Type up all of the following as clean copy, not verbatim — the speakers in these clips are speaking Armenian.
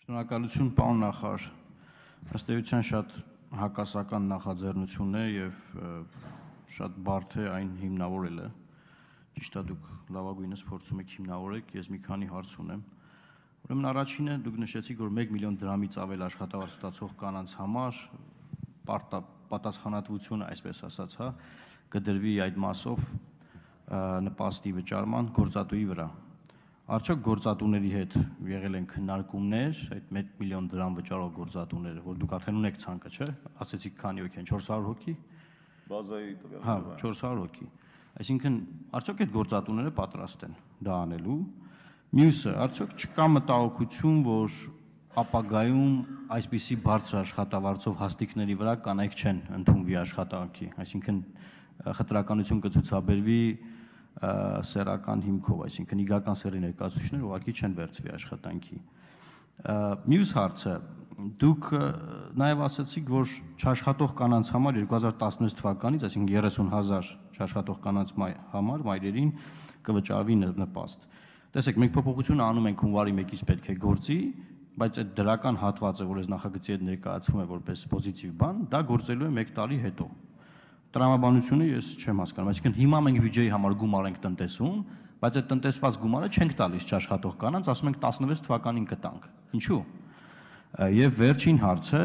Շնորհակալություն, պարոն նախարար, ըստ էության շատ հակասական նախաձեռնություն է եւ շատ բարդ է այն հիմնավորելը, ճիշտ է դուք լավագույնս փորձում եք հիմնավորեք, ես մի քանի հարց ունեմ, ուրեմն առաջինը դուք նշեցիք, որ 1 միլիոն դրամից ավել աշխատավարձ ստացող կանանց համար պատասխանատվությունը, այսպես ասած, կդրվի այդ մասով նպաստի վճարման գործատուի վրա։ Արդյոք գործատուների հետ եղել են քննարկումներ, այդ 1 միլիոն դրամ վճարող գործատուները, որ դուք արդեն ունեք ցանկը, չէ՞, ասեցիք քանի հոգի են, 400 հոգի։ Բազայի տվյալ։ Հա, 400 հոգի։ Այսինքն, արդյոք այդ գործատուները պատրաստ են դա անելու։ Մյուսը, արդյոք չկա մտահոգություն, որ ապագայում այսպիսի բարձր աշխատավարձով հաստիկների վրա կանայք չեն ընդունվի աշխատանքի, այսինքն խտրականություն կցուցաբերվի սեռական հիմքով, այսինքն իգական սեռի ներկայացուցիչներ ուղղակի չեն վերցվի աշխատանքի։ Մյուս հարցը, դուք նաև ասացիք, որ չաշխատող կանանց համար 2016 թվականից, այսինքն 30,000 չաշխատող կանանց համար մայրերին կվճարվի նպաստ։ Տեսեք, մենք փոփոխությունը անում ենք հունվարի 1-ից պետք է գործի, բայց այդ դրական հատվածը, որ այս նախագծի հետ ներկայացվում է որպես պոզիտիվ բան, դա գործելու է 1 տարի հետո։ Տրամաբանությունը ես չեմ հասկանում, այսինքն հիմա մենք բյուջեի համար գումար ենք տնտեսում, բայց այդ տնտեսված գումարը չենք տալիս չաշխատող կանանց, ասում ենք 16 թվականին կտանք։ Ինչու՞։ Եվ վերջին հարցը,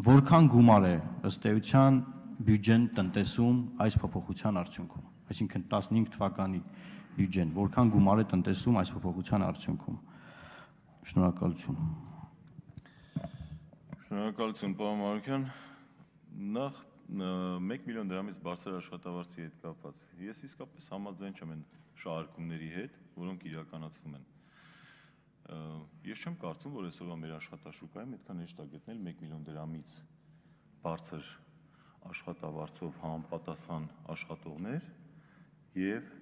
որքան գումար է ըստ էության բյուջեն տնտեսում այս փոփոխության արդյունքում, այսինքն 15 թվականի բյուջեն, որքան գումար է տնտեսում այս փոփոխության արդյունքում։ Շնորհակալություն։ Շնորհակալություն, պարոն Մարուկյան։ Նախ 1 միլիոն դրամից բարձր աշխատավարձի հետ կապված, ես իսկապես համաձայն չեմ այն շահարկումների հետ, որոնք իրականացվում են։ Ես չեմ կարծում, որ այսօրվա մեր աշխատաշուկայում այդքան հեշտ է գտնել 1 միլիոն դրամից բարձր աշխատավարձով համապատասխան աշխատողներ եւ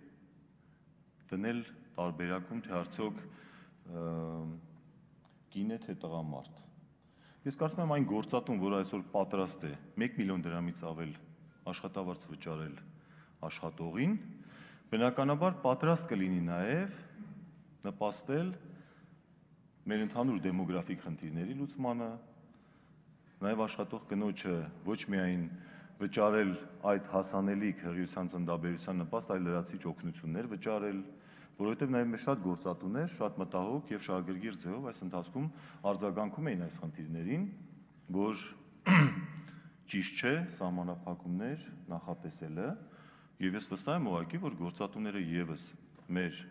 դնել տարբերակում, թե արդյոք կին է, թե տղամարդ։ Ես կարծում եմ այն գործատուն, որ այսօր պատրաստ է 1 միլիոն դրամից ավել աշխատավարձ վճարել աշխատողին, բնականաբար պատրաստ կլինի նաև նպաստել մեր ընդհանուր դեմոգրաֆիկ խնդիրների լուծմանը, նաև աշխատող կնոջը ոչ միայն վճարել այդ հասանելիք հղիության ծննդաբերության նպաստ, այլ լրացիչ օգնություններ վճարել, որովհետև նաև մեր շատ գործատուներ, շատ մտահոգ եւ շահագրգիռ ձևով այս ընթացքում արձագանքում էին այս խնդիրներին, որ ճիշտ չէ սահմանափակումներ նախատեսելը, եւ ես վստահ եմ ուղղակի, որ գործատուները եւս մեր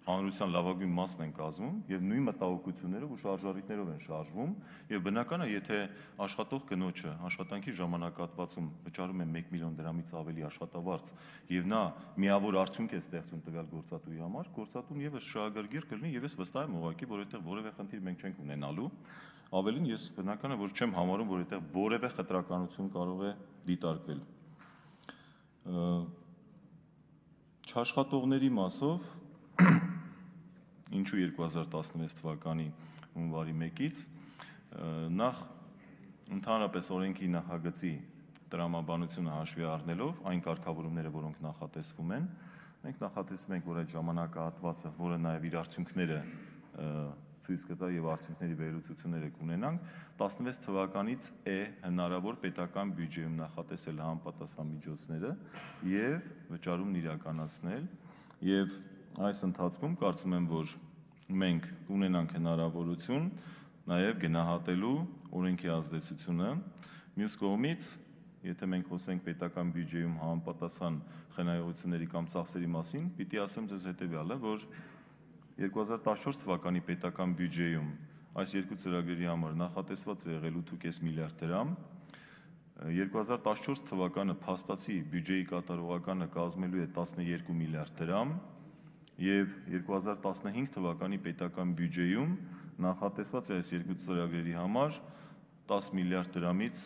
հանրության լավագույն մասն են կազմում եւ նույն մտահոգություններով ու շարժառիթներով են շարժվում եւ բնական է, եթե աշխատող կնոջը աշխատանքի ժամանակահատվածում վճարում է 1 միլիոն դրամից ավելի աշխատավարձ եւ նա միավոր արդյունք է ստեղծում տվյալ գործատուի համար, գործատուն եւս շահագրգիռ կլինի եւ ես վստահ եմ ուղղակի, որ այդտեղ որևէ խնդիր մենք չենք ունենալու, ավելին ես բնական է, որ չեմ համարում, որ այդտեղ որևէ խտրականություն կարող է դիտարկվել։ Չաշխատողների մասով ինչու 2016 թվականի հունվարի 1-ից նախ ընդհանրապես օրենքի նախագծի տրամաբանությունը հաշվի առնելով այն կարգավորումները, որոնք նախատեսվում են, մենք նախատեսում ենք, որ այդ ժամանակահատվածը, որը նաև իր արդյունքները ցույց կտա եւ արդյունքների վերլուծությունները կունենանք, 16 թվականից է հնարավոր պետական բյուջեում նախատեսել համապատասխան միջոցները եւ վճարումն իրականացնել եւ այս ընթացքում կարծում եմ, որ մենք ունենանք հնարավորություն նաև գնահատելու օրենքի ազդեցությունը, մյուս կողմից, եթե մենք խոսենք պետական բյուջեում համապատասխան խնայողությունների կամ ծախսերի մասին, պիտի ասեմ ձեզ հետևյալը, որ 2014 թվականի պետական բյուջեում այս երկու ծրագրերի համար նախատեսված է եղել 8.5 միլիարդ դրամ, 2014 թվականը փաստացի բյուջեի կատարողականը կազմելու է 12 միլիարդ դրամ եւ 2015 թվականի պետական բյուջեում նախատեսված է այս երկու ծրագրերի համար 10 միլիարդ դրամից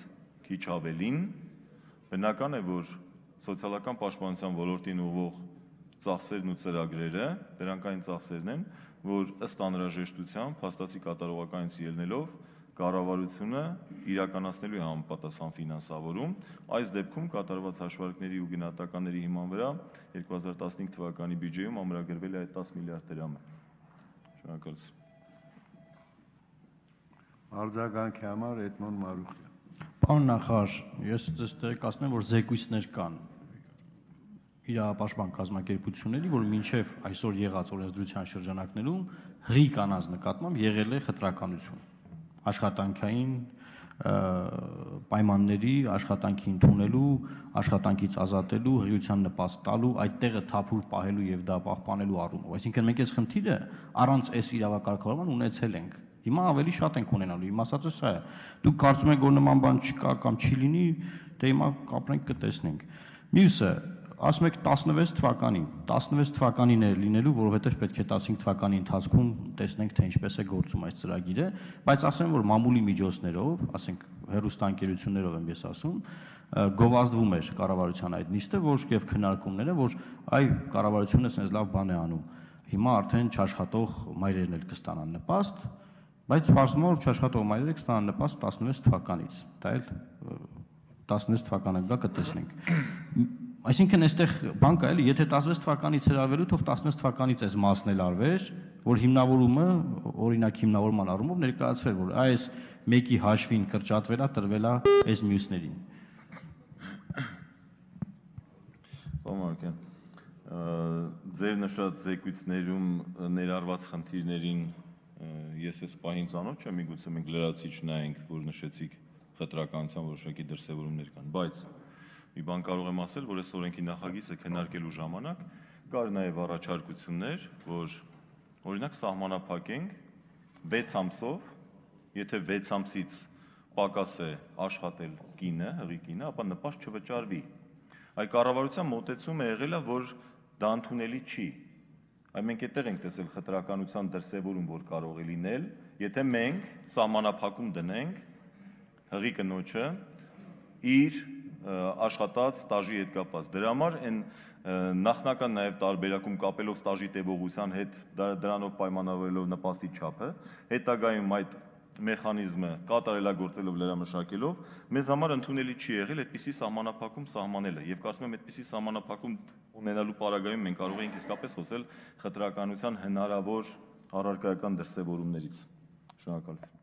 քիչ ավելին, բնական է, որ սոցիալական պաշտպանության ոլորտին ուղղող ծախսերն ու ծրագրերը, դրանք այն ծախսերն են, որ ըստ անհրաժեշտության փաստացի կատարողականից ելնելով կառավարությունը իրականացնելու է համապատասխան ֆինանսավորում, այս դեպքում կատարված հաշվարկների ու գնահատականների հիման վրա 2015 թվականի բյուջեում ամրագրվել է այդ 10 միլիարդ դրամը։ Շնորհակալություն։ Արձագանքի համար Էդմոն Մարուխյան։ Պարոն նախարար, ես կասեմ, որ զեկույցներ կան իրավապաշտպան կազմակերպությունների, որ մինչև այսօր եղած օրենսդրության շրջանակներում հղի կանանց նկատմամբ եղել է խտրականություն, աշխատանքային պայմանների, աշխատանքի ընդունելու, աշխատանքից ազատելու, հղիության նպաստ տալու, այդ տեղը թափուր պահելու եւ դա պահպանելու առումով։ Այսինքն մենք այս խնդիրը առանց այս իրավակարգավորման ունեցել ենք։ Հիմա ավելի շատ ենք ունենալու։ Իմ ասածը սա է։ Դուք կարծում եք, որ նման բան չկա կամ չի լինի, դե հիմա կապրենք կտեսնենք։ Մյուսը, ասում եք 16 թվականին, 16 թվականին է լինելու, որովհետև պետք է 15 թվականի ընթացքում տեսնենք, թե ինչպես է գործում այս ծրագիրը, բայց ասեմ, որ մամուլի միջոցներով, ասենք հեռուստաընկերություններով եմ ես ասում, գովազդվում էր կառավարության այդ նիստը, որ եւ քննարկումները, որ այ կառավարությունը sense լավ բան է անում։ Հիմա արդեն չաշխատող մայրերն էլ կստանան նպաստ, բայց բարձրում որ չաշխատող մայրերը կստանան նպաստ 16 թվականից։ Դա էլ 16 թվականը գա կտեսնենք։ Այսինքն այստեղ բան կա էլի, եթե 16 թվականից հրավերու, թող 16 թվականից այս մասն էլ արվեր, որ հիմնավորումը, օրինակ հիմնավորման առումով ներկայացվեր, որ այս մեկի հաշվին կրճատվելա, տրվելա այս մյուսներին։ Պարոն ձեր նշած զեկույցներում ներառված խնդիրներին ես այս պահին ծանոթ չեմ, միգուցե մենք լրացիչ նայենք, որ նշեցիք խտրականության որոշակի դրսևորումներ կան, բայց մի բան կարող եմ ասել, որ այս օրենքի նախագիծը քննարկելու ժամանակ կար նաև առաջարկություններ, որ օրինակ սահմանափակենք 6 ամսով, եթե 6 ամսից պակաս է աշխատել կինը, հղի կինը, ապա նպաստ չվճարվի։ Այ կառավարության մոտեցումը եղել է, որ դա ընդունելի չի։ Այ մենք այդտեղ ենք տեսել խտրականության դրսևորում, որ կարող է լինել, եթե մենք սահմանափակում դնենք հղի կնոջը իր աշխատած ստաժի հետ կապված։ Դրա համար այն նախնական նաև տարբերակում կապելով ստաժի տևողության հետ, դրանով պայմանավորելով նպաստի չափը, հետագայում այդ մեխանիզմը կատարելագործելով լրամշակելով, մեզ համար ընդունելի չի եղել այդպիսի սահմանափակում սահմանելը, եւ կարծում եմ այդպիսի սահմանափակում ունենալու պարագայում մենք կարող ենք իսկապես խոսել խտրականության հնարավոր առարկայական դրսևորումներից։ Շնորհակալություն։